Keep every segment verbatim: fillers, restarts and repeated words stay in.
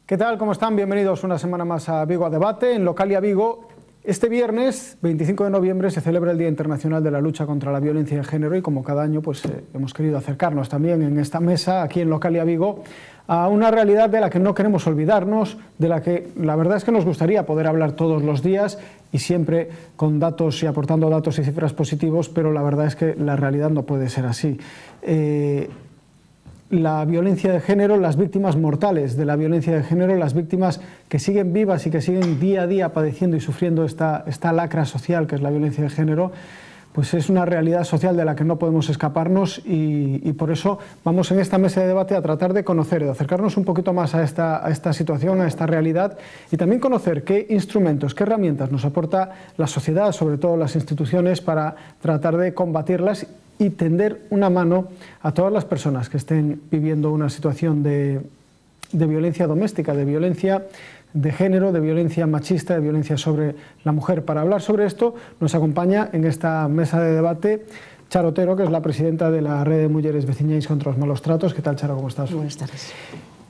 ¿Qué tal? ¿Cómo están? Bienvenidos una semana más a Vigo a Debate. En Localia Vigo, este viernes, veinticinco de noviembre, se celebra el Día Internacional de la Lucha contra la Violencia de Género y como cada año pues, eh, hemos querido acercarnos también en esta mesa, aquí en Localia Vigo, a una realidad de la que no queremos olvidarnos, de la que la verdad es que nos gustaría poder hablar todos los días y siempre con datos y aportando datos y cifras positivos, pero la verdad es que la realidad no puede ser así. Eh, La violencia de género, las víctimas mortales de la violencia de género, las víctimas que siguen vivas y que siguen día a día padeciendo y sufriendo esta, esta lacra social que es la violencia de género, pues es una realidad social de la que no podemos escaparnos y, y por eso vamos en esta mesa de debate a tratar de conocer, de acercarnos un poquito más a esta, a esta situación, a esta realidad y también conocer qué instrumentos, qué herramientas nos aporta la sociedad, sobre todo las instituciones, para tratar de combatirlas y tender una mano a todas las personas que estén viviendo una situación de, de violencia doméstica, de violencia de género, de violencia machista, de violencia sobre la mujer. Para hablar sobre esto nos acompaña en esta mesa de debate Charo Otero, que es la presidenta de la Red de Mujeres Veciñais contra los Malos Tratos. ¿Qué tal, Charo? ¿Cómo estás? Buenas tardes.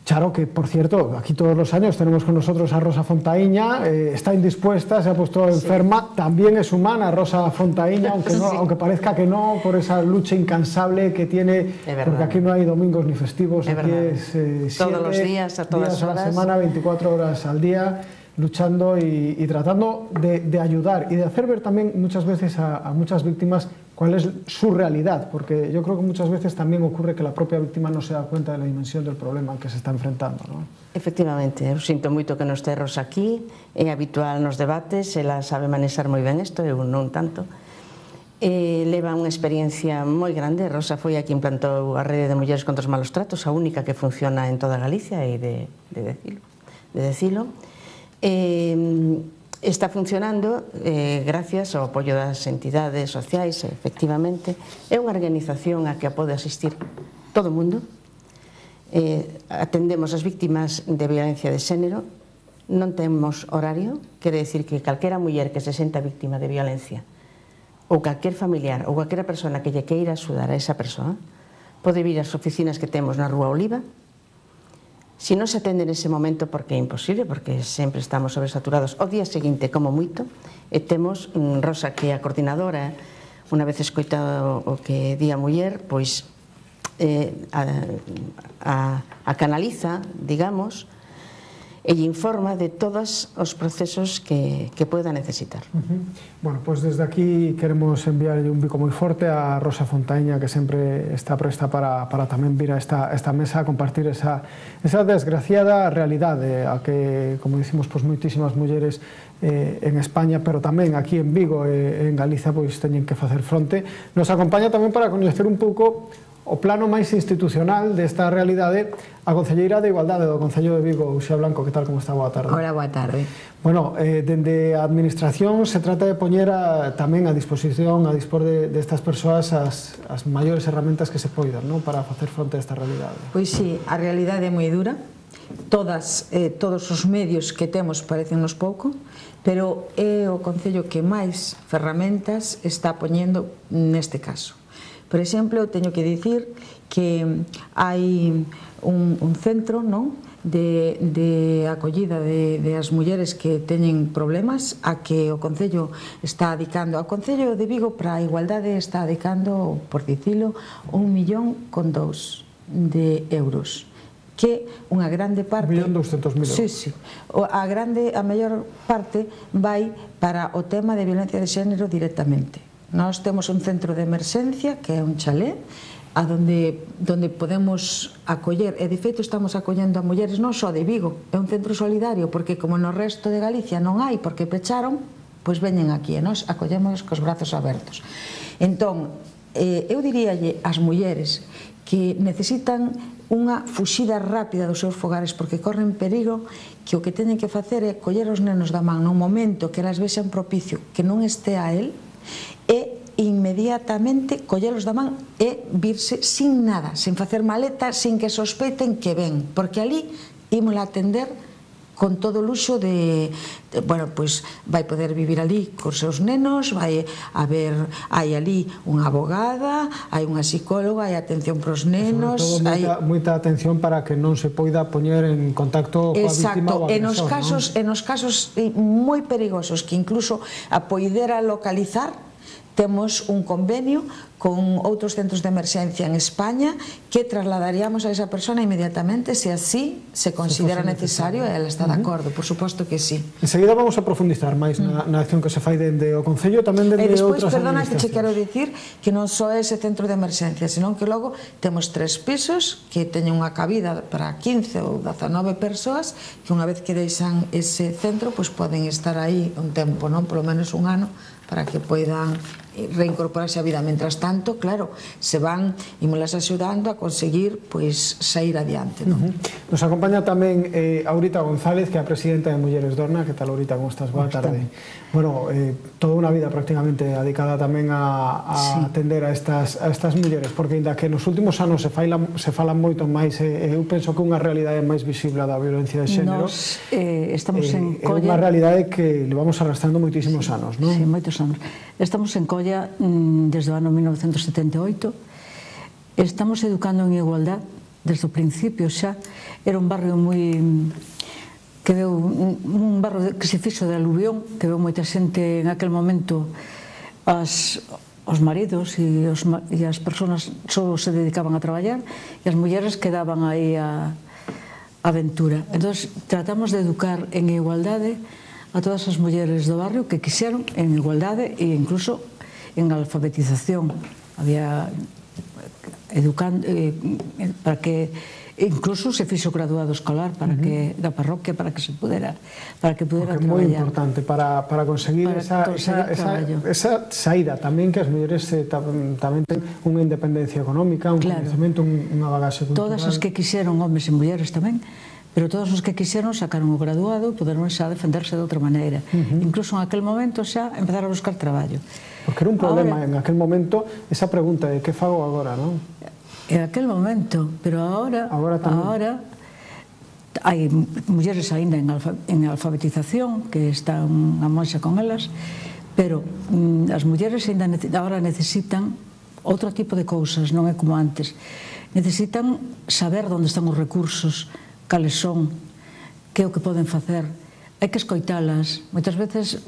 Charo, que por cierto, aquí todos los años tenemos con nosotros a Rosa Fontaíña, eh, está indispuesta, se ha puesto enferma, sí. También es humana Rosa Fontaíña, aunque, no, sí. aunque parezca que no, por esa lucha incansable que tiene, porque aquí no hay domingos ni festivos, es aquí es eh, siete todos los días, a todas días horas. a la semana, veinticuatro horas al día, luchando y, y tratando de, de ayudar y de hacer ver también muchas veces a, a muchas víctimas cuál es su realidad, porque yo creo que muchas veces también ocurre que la propia víctima no se da cuenta de la dimensión del problema al que se está enfrentando, ¿no? Efectivamente, eu sinto moito que non este Rosa aquí, é habitual nos debates, ela sabe manexar moi ben isto, eu non tanto. Eh, leva unha experiencia moi grande, Rosa foi a que implantou a Rede de Mulleres contra os Malos Tratos, a única que funciona en toda Galicia, e de, de, decilo, de decilo. Eh, Está funcionando eh, gracias ao apoio das entidades sociais, efectivamente. É unha organización a que a pode asistir todo o mundo. Eh, atendemos as víctimas de violencia de xénero, non temos horario, quere decir que calquera muller que se senta víctima de violencia ou calquer familiar ou calquera persona que lle queira axudar a esa persoa pode vir ás oficinas que temos na Rúa Oliva. Si non se atende nese momento, porque é imposible, porque sempre estamos sobresaturados, o día seguinte, como moito, e temos Rosa, que é a coordinadora, unha vez escoitado o que di a muller, pois eh, a, a, a canaliza, digamos, e informa de todos os procesos que, que pueda necesitar. Uh-huh. Bueno, pues desde aquí queremos enviar un bico moi forte a Rosa Fontaíña, que sempre está presta para, para tamén vir a esta, esta mesa a compartir esa, esa desgraciada realidade a que, como dicimos, pues, moitísimas mulleres eh, en España, pero tamén aquí en Vigo e eh, en Galiza, pois teñen que facer fronte. Nos acompaña tamén para coñecer un pouco o plano máis institucional desta realidade a concelleira de Igualdade do Concello de Vigo, Uxía Blanco. Que tal, como está? Boa tarde. Hola, boa tarde. Bueno, eh, dende a Administración se trata de poñer a, tamén a disposición, a dispor de, de estas persoas as, as maiores herramientas que se poidan, ¿no?, para facer fronte a esta realidade. Pois sí, a realidade é moi dura, todas, eh, todos os medios que temos parecennos pouco, pero é o Concello que máis ferramentas está poñendo neste caso. Por exemplo, teño que dicir que hai un, un centro, non?, de, de acollida de, de as mulleres que teñen problemas a que o Concello está adicando. O Concello de Vigo para a igualdade está adicando, por dicilo, un millón con dous de euros, que unha grande parte... un millón douscentos mil euros. Sí, sí. A grande, a maior parte vai para o tema de violencia de xénero directamente. Nós temos un centro de emerxencia, que é un chalé, a donde, donde podemos acoller, e de feito estamos acollendo a mulleres non só de Vigo, é un centro solidario, porque como no resto de Galicia non hai, porque pecharon, pois veñen aquí, e nós acollemos cos brazos abertos. Entón, eh, eu diríalle ás mulleres que necesitan unha fuxida rápida dos seus fogares porque corren perigo, que o que teñen que facer é coller os nenos da man nun momento que elas vexan propicio que non este a el, e inmediatamente collelos da man e virse sin nada, sin facer maleta, sin que sospeiten que ven, porque ali ímola atender con todo o luxo de, de bueno, pois vai poder vivir ali cos seus nenos, vai haber, hai ali unha abogada, hai unha psicóloga, hai atención pros nenos, sobre todo moita, hai... moita atención para que non se poida poñer en contacto coa víctima ou agresor. Exacto, e nos casos, ¿no? e nos casos moi perigosos que incluso a poidera localizar, temos un convenio con outros centros de emerxencia en España que trasladaríamos a esa persona inmediatamente se así se considera necesario e ela está de acordo, por suposto que sí. Enseguida vamos a profundizar máis na, na acción que se fai dende o Concello, tamén dende despois, outras perdona, que che quero administracións. dicir que non só é ese centro de emerxencia, senón que logo temos tres pisos que teñen unha cabida para quince ou dezanove persoas que unha vez que deixan ese centro pois poden estar aí un tempo, non? Polo menos un ano, para que poidan reincorporarse á vida. Mentras tanto, claro, se van imolas axudando a conseguir pois sair adiante, non? Uh-huh. Nos acompaña tamén eh, Aurita González, que é a presidenta de Mulleres Dorna. Que tal, Aurita? Como estás? Boa tarde. Bueno, eh, toda unha vida prácticamente dedicada tamén a, a sí. atender a estas, a estas mulleres, porque ainda que nos últimos anos se, faila, se falan moito máis, eh, eu penso que unha realidade máis visible da violencia de xénero. Nos eh, estamos eh, en Colla. É Colla... unha realidade que levamos arrastrando moitísimos sí, anos, non? Sí, moitos anos. Estamos en Colla mm, desde o ano mil novecentos setenta e oito. Estamos educando en igualdad desde o principio xa. Era un barrio moi... que veu un barrio que se fixo de aluvión, que veu moita xente en aquel momento, as, os maridos e, os, e as persoas só se dedicaban a traballar e as mulleres quedaban aí a, a aventura. Entón, tratamos de educar en igualdade a todas as mulleres do barrio que quixeron en igualdade e incluso en alfabetización. Había educando eh, para que incluso se fixo graduado escolar para que da parroquia para que se pudera para que pudera traballar. É moi importante para, para conseguir para esa, esa, esa, esa saída tamén, que as mulleres eh, tamén ten unha independencia económica, un claro. coñecemento, unha bagaxe cultural. Todas as que quixeron, homes e mulleres tamén, pero todos os que quixeron sacaron o graduado e poderon xa defenderse de outra maneira. Uh-huh. Incluso en aquel momento xa empezar a buscar traballo. Porque era un problema ahora, en aquel momento esa pregunta de que fago agora, non? En aquel momento, pero agora agora, agora hai mulleres aínda en, alfa, en alfabetización que están a monxa con elas, pero mm, as mulleres aínda agora necesitan outro tipo de cousas, non é como antes. Necesitan saber onde están os recursos, cales son, que é o que poden facer. Hai que escoitalas. Moitas veces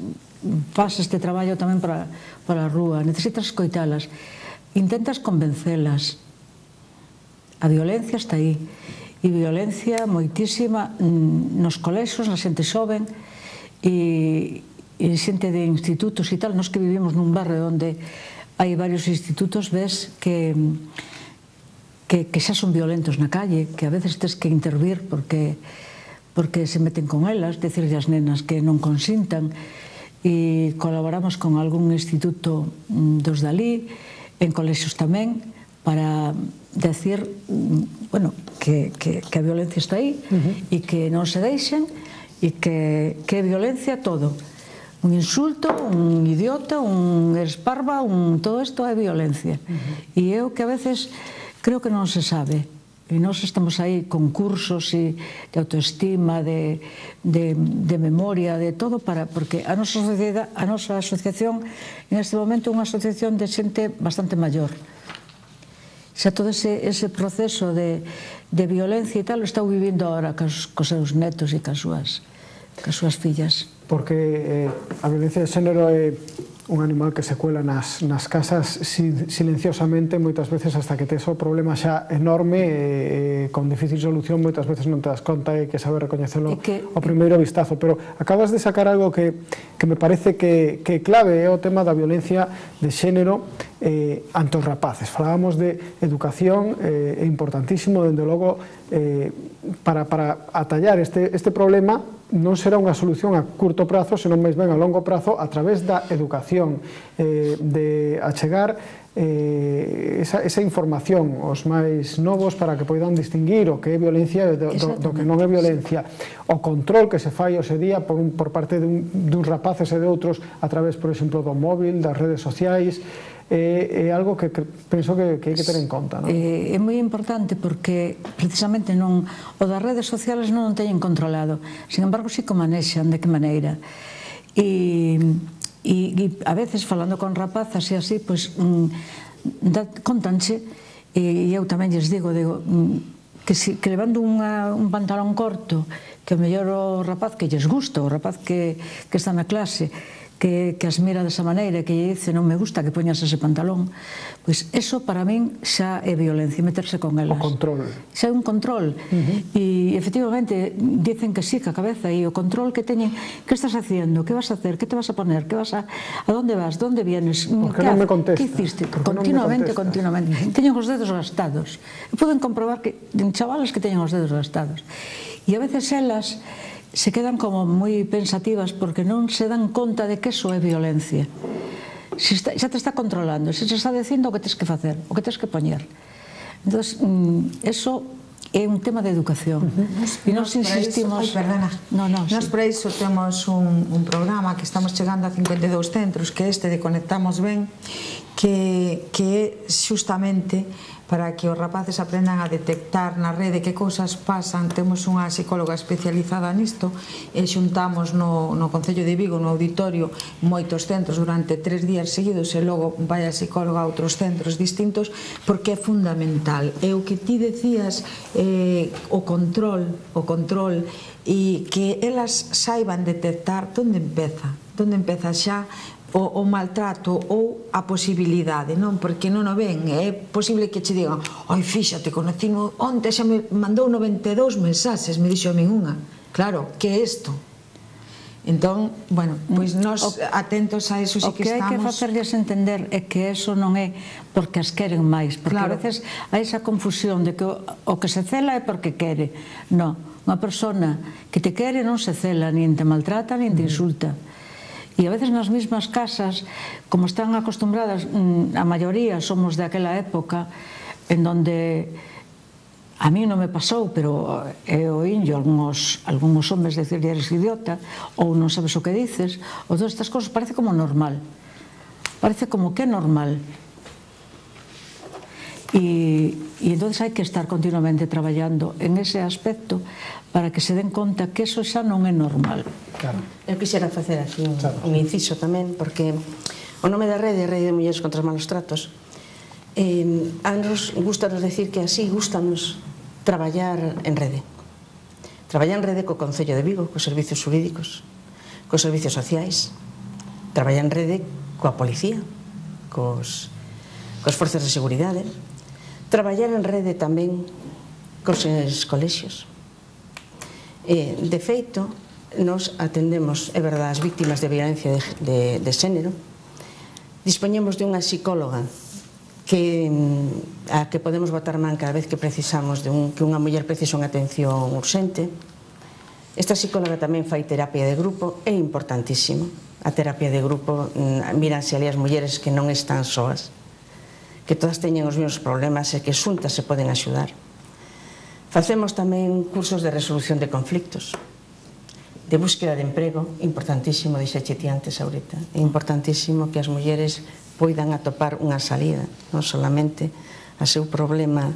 faz este traballo tamén para, para a rúa. Necesitas escoitalas. Intentas convencelas. A violencia está aí. E violencia moitísima nos colexios, na xente xoven e, e xente de institutos e tal. Nos que vivimos nun barrio onde hai varios institutos, ves que que, que xa son violentos na calle, que a veces tes que intervir porque porque se meten con elas, decirle ás nenas que non consintan, e colaboramos con algún instituto dos dalí, en colexios tamén, para decir, bueno, que, que, que a violencia está aí, uh-huh. e que non se deixen, e que, que é violencia todo. Un insulto, un idiota, un esparva, un, todo isto é violencia. Uh-huh. E eu que a veces creo que non se sabe. E nós estamos aí con cursos de autoestima, de, de, de memoria, de todo, para, porque a nosa, sociedade, a nosa asociación en este momento é unha asociación de xente bastante maior. Xa todo ese, ese proceso de, de violencia e tal o estou vivindo agora cos, cos seus netos e cas súas, cas súas fillas. Porque eh, a violencia de xénero é un animal que se cuela nas, nas casas silenciosamente, moitas veces hasta que tes o problema xa enorme e, e con difícil solución, moitas veces non te das conta e que saber recoñecelo que, ao primeiro vistazo. Pero acabas de sacar algo que, que me parece que, que clave é o tema da violencia de xénero eh, ante os rapaces. Falábamos de educación, eh, é importantísimo, dende logo, eh, para, para atallar este, este problema. Non será unha solución a curto prazo, senón máis ben a longo prazo, a través da educación, eh, de achegar eh, esa, esa información aos máis novos para que poidan distinguir o que é violencia do, do, do que non é violencia. O control que se fai hoxe día por, un, por parte dun, duns rapaces e de outros a través, por exemplo, do móvil, das redes sociais, é algo que penso que hai que ter en conta. É moi importante porque precisamente non o das redes sociales non o teñen controlado, sin embargo sí que o manexan, de que maneira. E a veces falando con rapazas e así, pois contanche, e eu tamén lles digo, que levando un pantalón corto, que o mellor o rapaz que lles gusta, o rapaz que está na clase, que as mira desa maneira, que lle dice non me gusta que poñas ese pantalón, pois eso para min xa é violencia, meterse con elas. O control. Xa é un control. E efectivamente dicen que sí, que a cabeza, e o control que teñen, que estás haciendo, que vas a hacer, que te vas a poner, que vas a donde vas, donde vienes, que non me contesta, que hiciste, continuamente, continuamente. Teñen os dedos gastados. Poden comprobar que chavales que teñen os dedos gastados. E a veces elas se quedan como moi pensativas porque non se dan conta de que eso é violencia. Xa te está controlando, xa te está dicindo o que tens que facer, o que tens que poñer. Entón, eso é un tema de educación. E nos insistimos... Ai, perdona. Nos por iso temos un programa que estamos chegando a cincuenta e dous centros, que é este de Conectamos Ben, que é xustamente para que os rapaces aprendan a detectar na rede que cousas pasan. Temos unha psicóloga especializada nisto e xuntamos no Concello de Vigo, no auditorio, moitos centros durante tres días seguidos e logo vai a psicóloga a outros centros distintos, porque é fundamental. E o que ti decías, o control, o control, e que elas saiban detectar onde empeza, onde empeza xa o maltrato ou a posibilidade, non? Porque non o ven, é posible que che digan ai, fíxate, conocino onte, xa me mandou noventa e dous mensaxes, me dixo a min unha. Claro, que é isto? Entón, bueno, pois nós atentos a eso sí que estamos. O que hai que facerlles entender é que eso non é porque as queren máis, porque a veces hai esa confusión de que o que se cela é porque quere. Non, unha persona que te quere non se cela, nin te maltrata, nin te insulta. E a veces nas mesmas casas, como están acostumbradas, a maioría somos de aquela época en donde a mí non me pasou, pero é o indio algúns homes decirle eres idiota ou non sabes o que dices, ou todas estas cosas parece como normal, parece como que é normal. E entón hai que estar continuamente traballando en ese aspecto para que se den conta que eso xa non é normal. Eu quixera facer aquí un inciso tamén, porque o nome da rede é Rede de Mulleres contra os Malos Tratos. A nos gustanos decir que así gustanos traballar en rede. Traballar en rede co Concello de Vigo, cos servicios xurídicos, cos servicios sociais, traballar en rede coa policía, cos forzas de seguridade, traballar en rede tamén cos colexios. De feito, nos atendemos, é verdade, as víctimas de violencia de xénero, dispoñemos de unha psicóloga a que podemos botar man cada vez que precisamos que unha muller precisa unha atención urxente. Esta psicóloga tamén fai terapia de grupo, é importantísimo. A terapia de grupo, míranse ali as mulleres que non están soas, que todas teñen os mesmos problemas e que xuntas se poden axudar. Facemos tamén cursos de resolución de conflictos, de búsqueda de emprego, importantísimo, dixeche ti antes ahorita, é importantísimo que as mulleres poidan atopar unha salida, non solamente a seu problema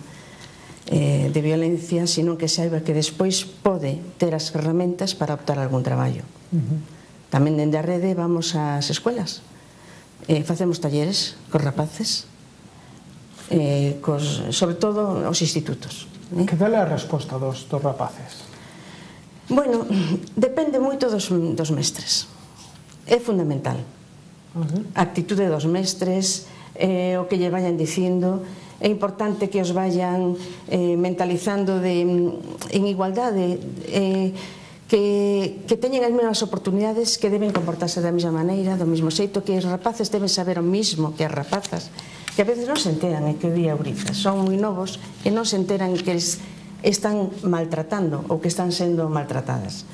de violencia, sino que saiba que despois pode ter as ferramentas para optar a algún traballo. Tamén dende a rede vamos ás escuelas, facemos talleres cos rapaces, sobre todo os institutos. Que tal é a resposta dos rapaces? Bueno, depende moito dos mestres. É fundamental. A actitude dos mestres, o que lle vayan dicindo, é importante que os vayan mentalizando en igualdade, que teñen as mesmas oportunidades, que deben comportarse da mesma maneira, do mesmo xeito, que os rapaces deben saber o mismo que as rapazas, que a veces non se enteran, é que o día Euriza, son moi novos e non se enteran que están maltratando ou que están sendo maltratadas.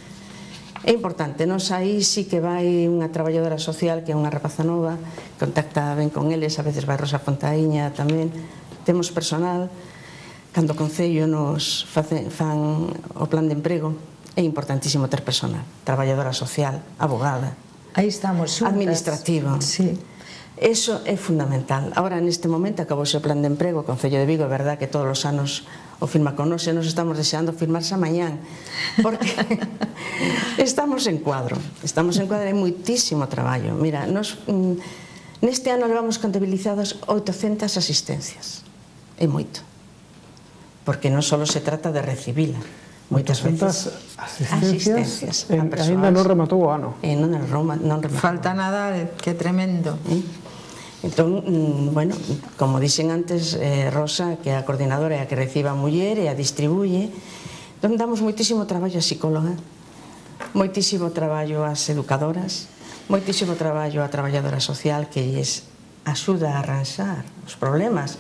É importante, nos aí sí que vai unha traballadora social que é unha rapaza nova, contacta ben con eles, a veces vai Rosa Fontaíña tamén, temos personal, cando o Concello nos fan o plan de emprego, é importantísimo ter personal, traballadora social, abogada, aí estamos xuntas, administrativa. Sí. Eso é fundamental. Ahora, neste momento, acabou o plan de emprego, o Concello de Vigo, é verdad que todos os anos o firma con nos e nos estamos deseando firmarse mañán, porque estamos en cuadro, estamos en cuadro, hai moitísimo traballo. Mira, nos, neste ano levamos contabilizados oitocentas asistencias, é moito, porque non só se trata de recibila, moitas veces asistencias, ainda non rematou o ano. Falta nada, que tremendo. Entón, bueno, como dixen antes, Rosa, que é a coordinadora, é a que recibe a muller e a distribuye, entón damos moitísimo traballo a psicóloga, moitísimo traballo ás educadoras, moitísimo traballo a traballadora social que lles axuda a arranxar os problemas.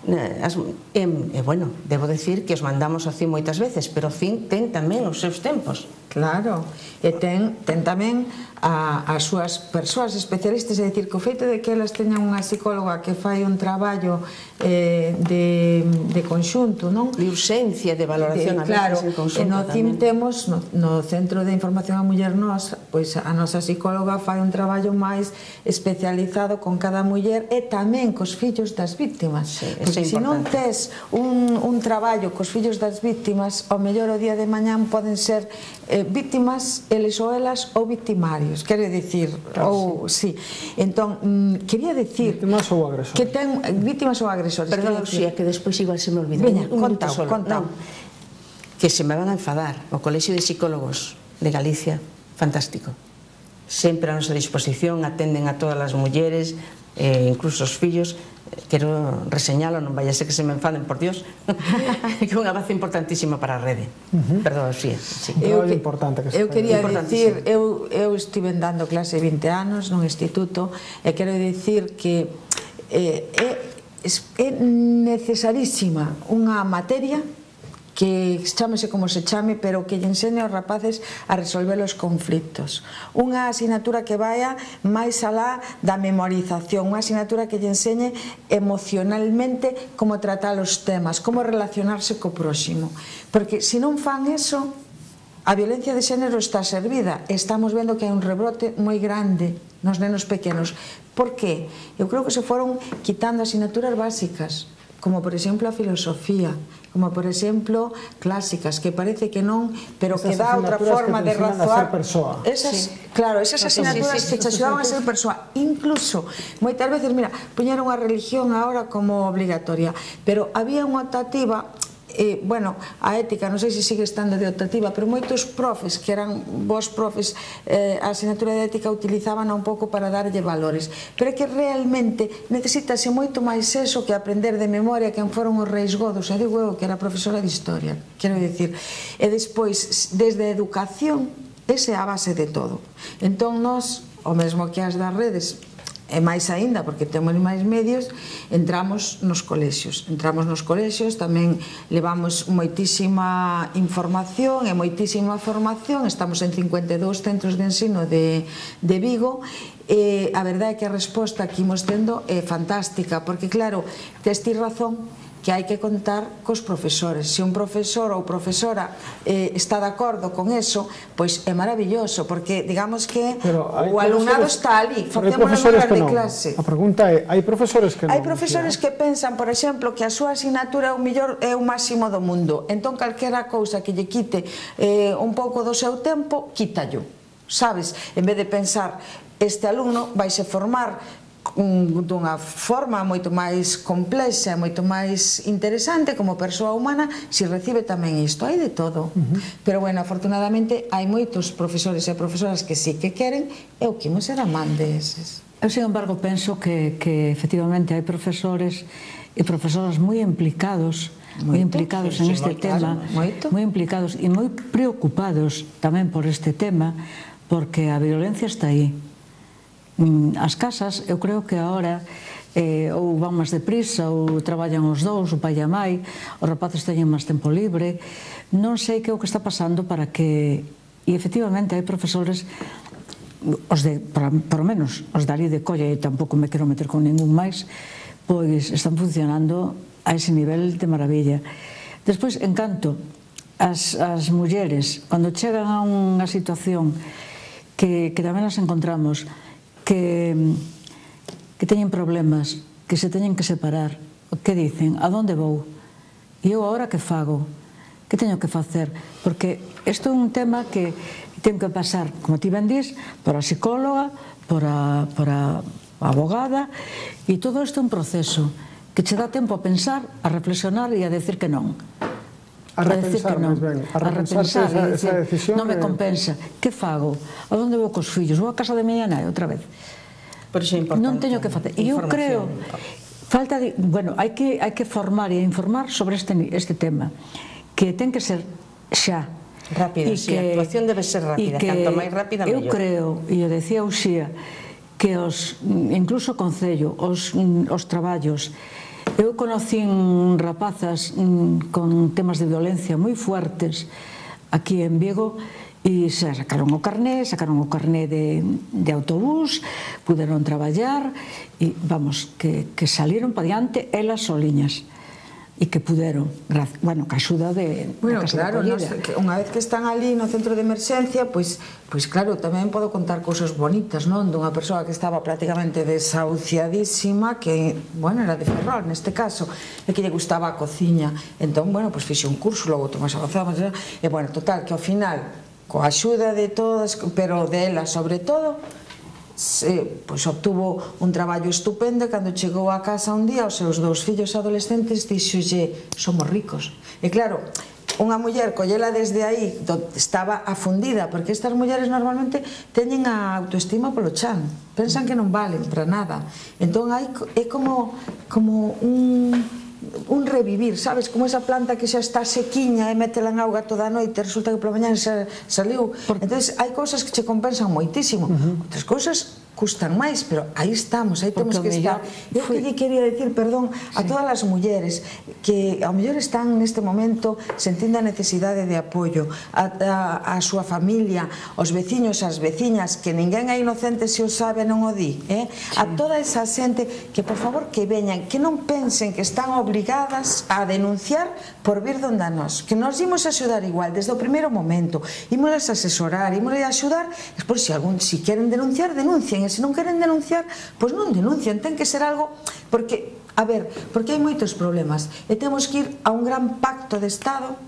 E, bueno, debo decir que os mandamos así moitas veces, pero fin ten tamén os seus tempos. Claro, e ten tamén as súas persoas especialistas, é dicir, que o feito de que elas teñan unha psicóloga que fai un traballo de conxunto, non? De urxencia, de valoración a veces en conxunto. E no C I M temos, no Centro de Información a Muller Nos, pois a nosa psicóloga fai un traballo máis especializado con cada muller e tamén cos fillos das víctimas. Porque se non tes un traballo cos fillos das víctimas, ao mellor o día de mañán poden ser víctimas, eles ou elas, ou victimarios, quere dicir, ou, sí. Entón, quería dicir... Víctimas ou agresores. Que ten víctimas ou agresores. Perdón, Uxía, que despois igual se me olvida. Veña, contao, contao. Que se me van a enfadar. O Colexio de Psicólogos de Galicia, fantástico. Sempre a nosa disposición, atenden a todas as mulleres, incluso os fillos. Quero reseñalo, non vai a ser que se me enfaden, por Dios, que é unha base importantísima para a rede. Perdón, sí. Eu quería dicir, eu estive dando clase vinte anos nun instituto e quero dicir que é necesarísima unha materia que chámese como se chame, pero que lle enseñe aos rapaces a resolver os conflitos. Unha asignatura que vaya máis alá da memorización, unha asignatura que lle enseñe emocionalmente como tratar os temas, como relacionarse co próximo. Porque se non fan eso, a violencia de xénero está servida. Estamos vendo que hai un rebrote moi grande nos nenos pequenos. Por qué? Eu creo que se foron quitando asignaturas básicas, como por exemplo a filosofía, como por exemplo clásicas, que parece que non, pero que dá outra forma de razoar. Claro, esas asignaturas que te axudaban a ser persoa. Incluso, moitas veces, mira, poñeron a religión agora como obligatoria, pero había unha optativa, bueno, a ética, non sei se sigue estando de optativa, pero moitos profes, que eran vos profes, a asignatura de ética utilizaban un pouco para darlle valores, pero é que realmente necesitase moito máis eso que aprender de memoria quen foron os reis godos. E digo eu que era profesora de historia, quero dicir, e despois, desde a educación, esa é a base de todo. Entón, nós, o mesmo que as das redes, e máis aínda, porque temos máis medios, entramos nos colexios. Entramos nos colexios, tamén levamos moitísima información e moitísima formación. Estamos en cincuenta e dous centros de ensino de Vigo, e a verdade é que a resposta que imos tendo é fantástica, porque claro, tes ti razón, que hai que contar cos profesores. Se un profesor ou profesora está de acordo con eso, pois é maravilloso, porque digamos que o alumnado está ali, facemos as horas de clase. A pregunta é, hai profesores que non? Hai profesores que pensan, por exemplo, que a súa asignatura é o máximo do mundo, entón calquera cousa que lle quite un pouco do seu tempo, quítallo, sabes? En vez de pensar, este alumno vaise formar dunha forma moito máis complexa, moito máis interesante como persoa humana, se recibe tamén isto. Hai de todo, pero bueno, afortunadamente hai moitos profesores e profesoras que sí que queren, e o que imos ser amán deses. Eu, sin embargo, penso que efectivamente hai profesores e profesoras moi implicados moi implicados en este tema, moi implicados e moi preocupados tamén por este tema, porque a violencia está aí. As casas, eu creo que agora ou van máis deprisa ou traballan os dous, o pai e a mai, os rapaces teñen máis tempo libre, non sei que é o que está pasando para que, e efectivamente hai profesores, os de, por lo menos os dali de Colla, e tampouco me quero meter con ningún máis, pois están funcionando a ese nivel de maravilla. Despois, en canto as mulleres, cando chegan a unha situación que tamén nas encontramos, que que teñen problemas, que se teñen que separar, que dicen, a donde vou? E eu agora que fago? Que teño que facer? Porque isto é un tema que ten que pasar, como ti ben dís, por a psicóloga, por a, por a abogada, e todo isto é un proceso que che dá tempo a pensar, a reflexionar e a decir que non. A repensar, máis ben. A repensarse esa, esa decisión. Non me compensa. Que fago? A onde vou cos fillos? Vou a casa de miña nai outra vez? Por iso é importante. Non teño que facer. E eu creo, falta de, bueno, hai que, hai que formar e informar sobre este, este tema, que ten que ser xa. Rápida, si, a actuación debe ser rápida, canto máis rápida, mellor. Eu creo, e o decía Uxía, que os, incluso o Concello, os, os traballos, eu conocín rapazas con temas de violencia moi fuertes aquí en Vigo, e se sacaron o carné, sacaron o carné de, de autobús, puderon traballar, e vamos, que, que saliron para diante elas soliñas, e que puderon, bueno, que axuda de bueno, claro, nos, que unha vez que están ali no centro de emerxencia, pois, pois claro, tamén podo contar cousas bonitas, non? Dunha persoa que estaba prácticamente desahuciadísima, que, bueno, era de Ferrol neste caso, e que lle gustaba a cociña, entón, bueno, pois fixe un curso, logo máis avanzado, e, bueno, total, que ao final, coa axuda de todas, pero dela sobre todo, Se, pois obtuvo un traballo estupendo e cando chegou a casa un día os seus dous fillos adolescentes díxolle, somos ricos. E claro, unha muller collela desde aí estaba afundida, porque estas mulleres normalmente teñen a autoestima polo chan, pensan que non valen para nada, entón hai, é como, como un un revivir, sabes, como esa planta que xa está sequiña e métela en auga toda a noite e resulta que pola mañá xa saliu. Entonces hai cousas que che compensan moitísimo, outras cousas custan máis, pero aí estamos, aí temos que estar. Eu que lle quería decir, perdón, a todas as mulleres que ao mellor están neste momento sentindo a necesidade de apoio, a súa familia, os veciños, as veciñas, que ninguén é inocente se o sabe non o di, a toda esa xente que por favor que veñan, que non pensen que están obrigadas a denunciar por vir donde a nós, que nos imos axudar igual desde o primeiro momento, imos a asesorar, imos a axudar, despois se algún, si queren denunciar, denuncien, e se non queren denunciar, pois non denuncian, ten que ser algo, porque, a ver, porque hai moitos problemas, e temos que ir a un gran pacto de Estado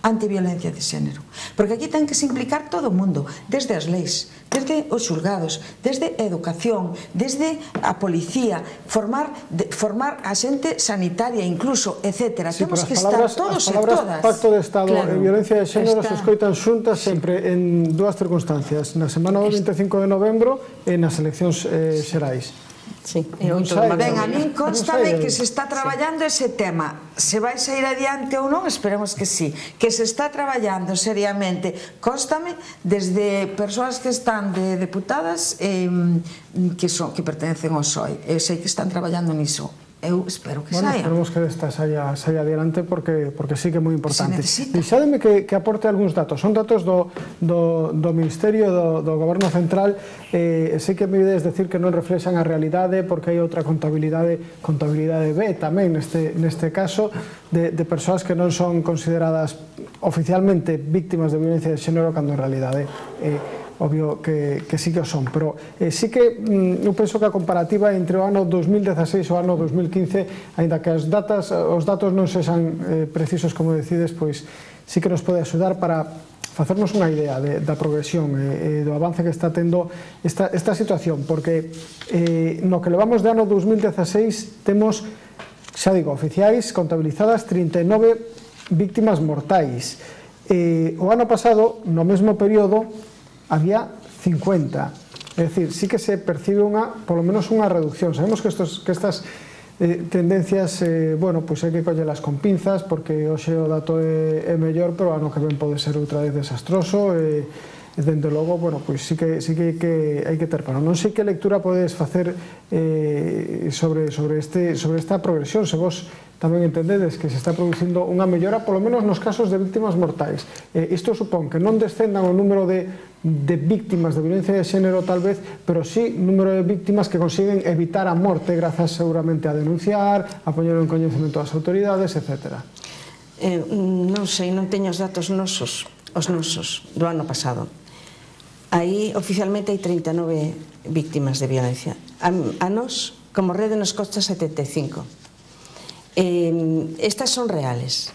antiviolencia de xénero, porque aquí ten que se implicar todo o mundo, desde as leis, desde os xulgados, desde a educación, desde a policía, formar, de, formar a xente sanitaria incluso, etcétera. Sí, temos que palabras, estar todos e todas. As palabras pacto de Estado claro, e violencia de xénero se escoitan xuntas sempre en dúas circunstancias, na semana do vinte e cinco de novembro e nas eleccións eh, xerais. Sí, non sei, ben, a min constame que se está traballando ese tema, se vai sair adiante ou non, esperemos que sí, que se está traballando seriamente, constame desde persoas que están de deputadas eh, que, son, que pertenecen ao P S O E, eu sei que están traballando niso. Eu espero que bueno, saia. Esperemos que esta saia, saia adiante porque, porque sí que é moi importante. Deixademe que, que aporte algúns datos. Son datos do, do, do Ministerio do, do Goberno Central. Eh, sei que me ideas decir que non reflexan a realidade porque hai outra contabilidade, contabilidade B tamén neste, neste caso, de, de persoas que non son consideradas oficialmente víctimas de violencia de xénero cando en realidade eh, obvio que, que sí que o son, pero eh, sí que mm, eu penso que a comparativa entre o ano dos mil dezaseis e o ano dos mil quince, aínda que as datas, os datos non sexan eh, precisos como decides, pois sí que nos pode axudar para facernos unha idea de, da progresión e eh, do avance que está tendo esta, esta situación, porque eh, no que levamos de ano dos mil dezaseis temos, xa digo, oficiais contabilizadas trinta e nove víctimas mortais. Eh, o ano pasado, no mesmo período, había cincuenta, é dicir, sí que se percibe unha, polo menos unha reducción. Sabemos que, estos, que estas eh, tendencias, eh, bueno, pois hai que collelas con pinzas, porque hoxe o dato é, é mellor, pero ano que ven pode ser outra vez desastroso, e, e dende logo, bueno, pois sí que, sí que, que hai que ter para. Non sei que lectura podes facer eh, sobre, sobre, este, sobre esta progresión, se vos tamén entendedes que se está producindo unha mellora, polo menos nos casos de víctimas mortais. Eh, isto supón que non descendan o número de, de víctimas de violencia de xénero tal vez, pero sí número de víctimas que consiguen evitar a morte grazas seguramente a denunciar, a poñer en coñecemento das autoridades, etcétera. Eh, non sei, non teño os datos nosos, os nosos do ano pasado. Aí oficialmente hai trinta e nove víctimas de violencia. A, a nós como rede nos costa setenta e cinco. Estas son reales,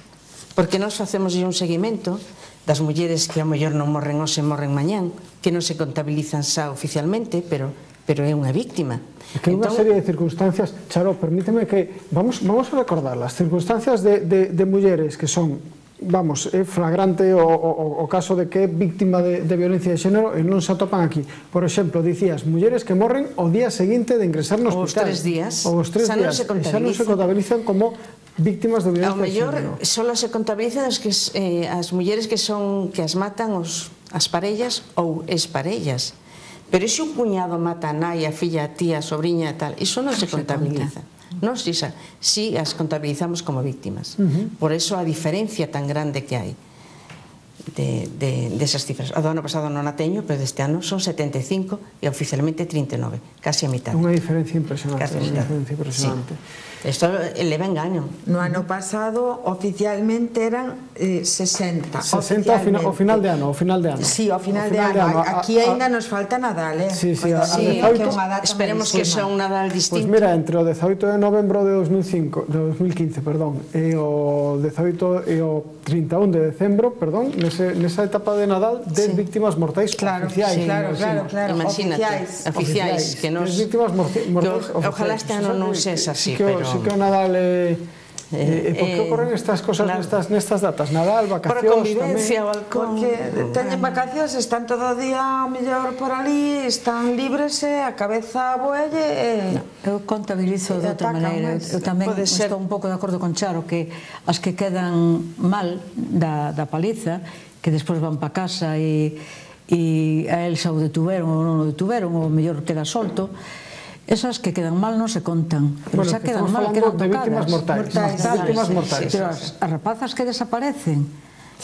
porque nós facemos un seguimento das mulleres que a mellor non morren hoxe, morren mañán, que non se contabilizan xa oficialmente, pero pero é unha víctima. É que hai unha serie de circunstancias, Charo, permíteme que, vamos a recordar, as circunstancias de mulleres que son, vamos, é flagrante o caso de que é víctima de violencia de xénero e non se atopan aquí. Por exemplo, dicías, mulleres que morren o día seguinte de ingresar no hospital. Os tres días, xa non se contabilizan. Xa non se contabilizan como víctimas de violencia de xénero. Ao mellor, só se contabilizan as mulleres que as matan as parellas ou exparellas. Pero se un cuñado mata a nai, a filla, a tía, a sobriña e tal, iso non se contabiliza. Nos si as contabilizamos como víctimas. Por eso a diferencia tan grande que hai desas cifras. O do ano pasado non a teño, pero deste ano son setenta e cinco e oficialmente trinta e nove, casi a mitad. Unha diferencia impresionante. Unha diferencia impresionante. Isto leva engaño. No ano pasado oficialmente eran sesenta. sesenta ao final de ano, ao final de ano. Sí, ao final de ano. Aquí ainda nos falta Nadal, eh? Sí, sí, esperemos que sea un Nadal distinto. Pois mira, entre o dezaoito de novembro de dos mil quince, perdón, e o dezaoito e o trinta e un de decembro, perdón, nesa etapa de Nadal, dez víctimas mortais oficiais. Claro, claro, claro. Imagínate, oficiais. dez víctimas mortais oficiais. Ojalá este ano non sexa así, pero... Sí que o Nadal é... E por que ocorren estas cosas nestas datas? Nadal, vacacións... Por a convivencia, o alcohol... Porque teñen vacacións, están todo o día mellor por ali, están libres e a cabeza boelle... Eu contabilizo de outra maneira. Eu tamén estou un pouco de acordo con Charo que as que quedan mal da paliza, que despois van pa casa e a el xa o detuveron ou non o detuveron, ou mellor queda solto, esas que quedan mal non se contan, pero xa quedan mal, quedan tocadas. Víctimas mortais. Víctimas mortais. Pero as rapazas que desaparecen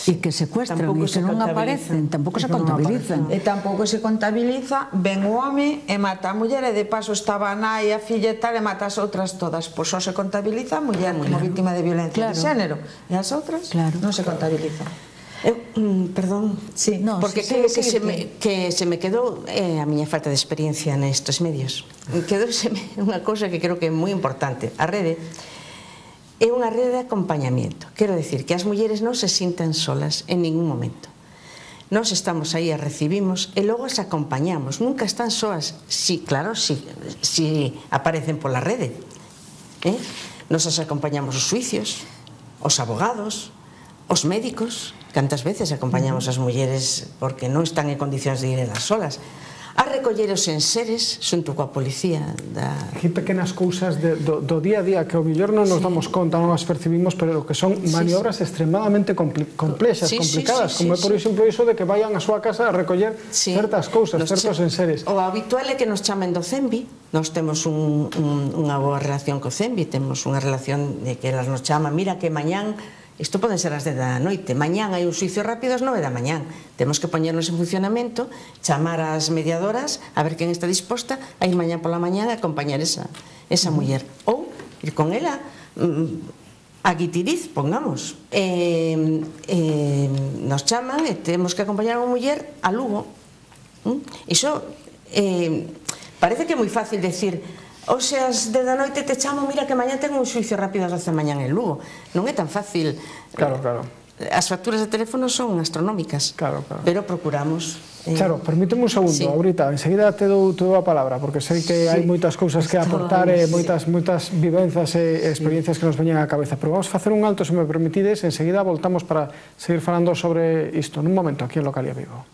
e que secuestran e que non aparecen, tampouco se contabilizan. E tampouco se contabiliza, ven o home e mata a muller e de paso estaba a nai, a filla e tal, e mata as outras todas. Pois só se contabiliza a muller como víctima de violencia de xénero e as outras non se contabilizan. Perdón, porque creo que se me quedou a miña falta de experiencia nestes medios. Quedouseme unha cousa que creo que é moi importante. A rede é unha rede de acompañamiento. Quero decir que as mulleres non se sintan solas en ningún momento. Nós estamos aí, as recibimos e logo as acompañamos. Nunca están soas. Si, claro, si aparecen pola rede. Nos as acompañamos os suicios, os abogados, os médicos. Cantas veces acompañamos as mulleres porque non están en condicións de ir elas solas a recoller os enseres xunto coa policía. Aquí pequenas cousas do día a día que ao mellor non nos damos conta, non as percibimos, pero que son maniobras extremadamente complexas, complicadas, como é por exemplo iso de que vayan a súa casa a recoller certas cousas, certos enseres. O habitual é que nos chamen do CEMBI. Nós temos unha boa relación co CEMBI, temos unha relación de que elas nos chaman, mira que mañán isto pode ser as dez da noite, mañán hai un suicio rápido ás nove da mañán, temos que poñernos en funcionamento, chamar ás mediadoras a ver quen está disposta a ir mañán pola mañán a acompañar esa muller, ou ir con ela a Guitiriz, pongamos. Nos chaman e temos que acompañar a unha muller a Lugo. Iso parece que é moi fácil decir hoxe as dez da noite te chamo, mira que mañán tengo un suicio rápido ás doce da mañán en Lugo. Non é tan fácil. Claro, claro. As facturas de teléfono son astronómicas, pero procuramos. Charo, permíteme un segundo, ahorita, enseguida te dou a palabra, porque sei que hai moitas cousas que aportar, moitas vivenzas e experiencias que nos veñen á cabeza, pero vamos facer un alto, se me permitides, enseguida voltamos para seguir falando sobre isto, nun momento, aquí en Localia Vigo.